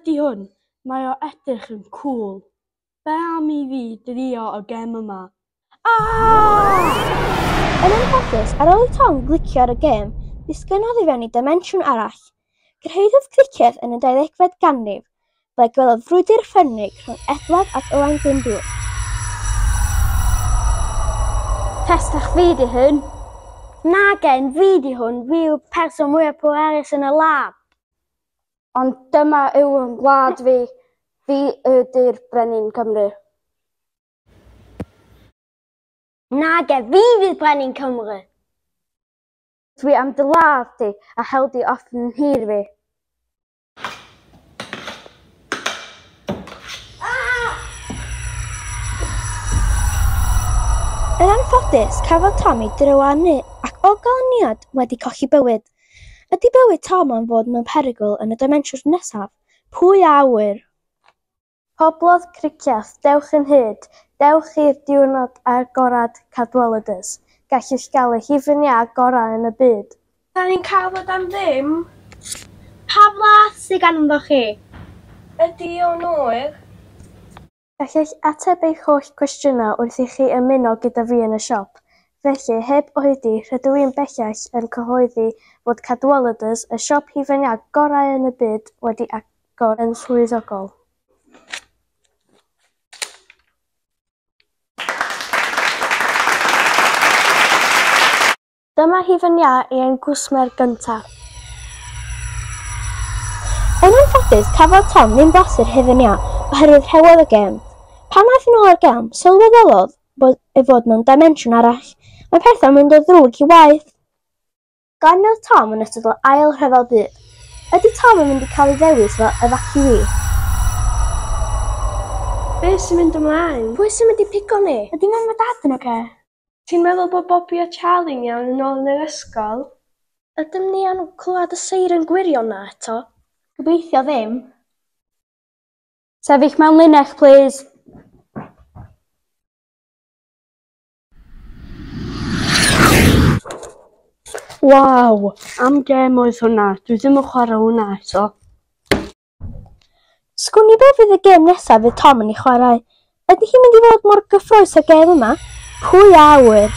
ydy hwn? Mae o edrych yn cŵl. Be am i fi drio y gêm yma? Aaaa! Yn anffodus, ar ôl i Tom glicio ar y gêm, disgynnodd i fewn i dimensiwn arall. Cyrhaeddodd Cricieth yn y 20fed ganrif, ble gwelodd frwydr ffyrnig rhwng Edward ac Owain Glyndŵr. Testach fi 'di hyn. Nagen, fi 'di hwn, fi yw'r person mwyaf pwerus yn y wlad. Ond dyma yw yn gwlad fi, fi ydy'r brenin Cymru. Nage, fi fydd brenin Cymru. Dwi am dy ladd di a hel di off yn nhir fi. Yn anffodus, cafodd Tom ei drywanu ac o ganlyniad wedi colli bywyd. Ydy bywyd Tom am fod mewn perygl yn y dimensiwn nesaf? Pwy a ŵyr? Poblodd Cricieth, dewch yn hyd, dewch i'r diwrnod agorad Cadwaladers. Gallwch gael y hufen iâ gorau yn y byd. Da ni'n cael fod am ddim? Pa flas sydd ganddo chi? Ydy o'n oer? Gallech ateb eich holl gwestiynau wrth i chi ymuno gyda fi yn y siop. Felly, heb oedi, rydw i'n bellach yn cyhoeddi fod Cadwaladers, y siop hufen iâ gorau yn y byd, wedi agor yn swyddogol. Dyma hufen iâ i ein cwsmer gyntaf. Yn anffodus, cafodd Tom ddim blasu'r hufen iâ oherwydd rhewodd y gêm. Pan aeth yn ôl i'r gêm, sylweddolodd bod ei fod mewn dimensiwn arall. Mae pethau'n mynd o ddrwg i waeth. Ganwyd Tom yn ystod yr Ail Rhyfel Byd. Ydy Tom yn mynd i cael ei ddewis fel efaciwî? Be sy'n mynd ymlaen? Pwy sy'n mynd i pigo ni? Ydy mam a dad yn oce? Ti'n meddwl bod Bobby a Charlie'n iawn yn ôl yn yr ysgol? Ydym ni am clywed y seiren gwirion 'na eto? Gobeithio ddim. Sefyll mewn linell, plîs. Waw! Am gêm oedd hwnna. Dwi ddim yn chwarae hwnna eto. Sgwn i be fydd y gêm nesaf fydd Tom yn ei chwarae. Ydy hi'n mynd i fod mor gyffrous â'r gêm yma? Pwy a ŵyr?